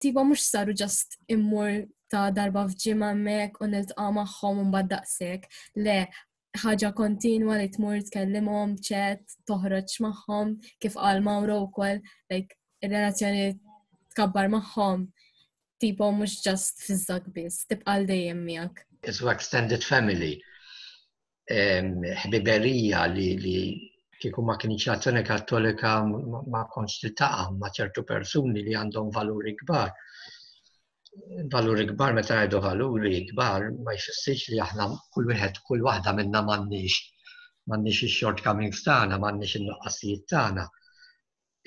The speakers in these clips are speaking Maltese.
Tipo mhux saru just immur ta' darba f'ġimgħa hemmhekk u niltaqa' magħhom u mbagħad daqshekk. Le, ħaġa kontinwa li tmur tkellimhom, chat, toħroġ magħhom, kif qal Mauro wkoll, like ir-relazzjoni tkabbar magħhom, tipo mhux just fiż-żak biss, tibqa' għal dejjem miegħek. Isu extended family. Ħbiberija li, li kieku ma kienx l-azzjoni kattolika ma kontx tiltaqa' ma' ċertu persuni li għandhom valuri kbar. Valuri kbar meta ngħidu valuri kbar ma jfissirx li aħna kull wieħed kull waħda minna m'għandniex m'għandniex ix-shortcomings tagħna, m'għandniex in-nuqqasijiet tagħna.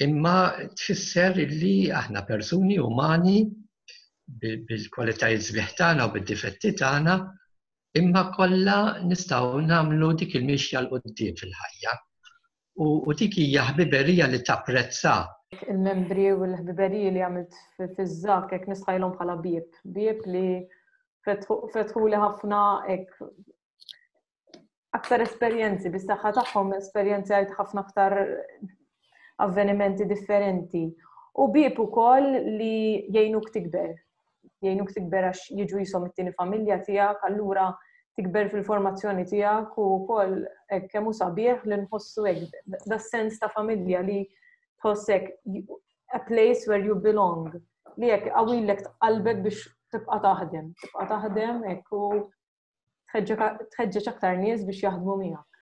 Imma tfisser li aħna persuni umani bil-kwalitajiet sbieħ tagħna u bid-difetti tagħna Imma kollha nistgħu nagħmlu dik il-mixja 'l quddiem fil-ħajja. U dik hija ħbiberija li tapprezza. Il-membri u l-ħbiberiji li għamilt fiż-żak hekk nistħajlhom bħala bieb. Bieb li fetħuli ħafna hekk aktar esperjenzi, bis-saħħa tagħhom esperjenzajt ħafna aktar avvenimenti differenti. U bieb ukoll li jgħinuk tikber. Jgħinuk tikber għax jiġu jisom it-tieni familja tiegħek, allura tikber fil-formazzjoni tiegħek u wkoll hekk kemm hu sabiħ li nħossu hekk da sens ta' familja li tħossek a place where you belong li hekk qawwilek qalbek biex tibqa' taħdem, tibqa' taħdem hekk u tħeġġeġ aktar nies biex jaħdmu miegħek.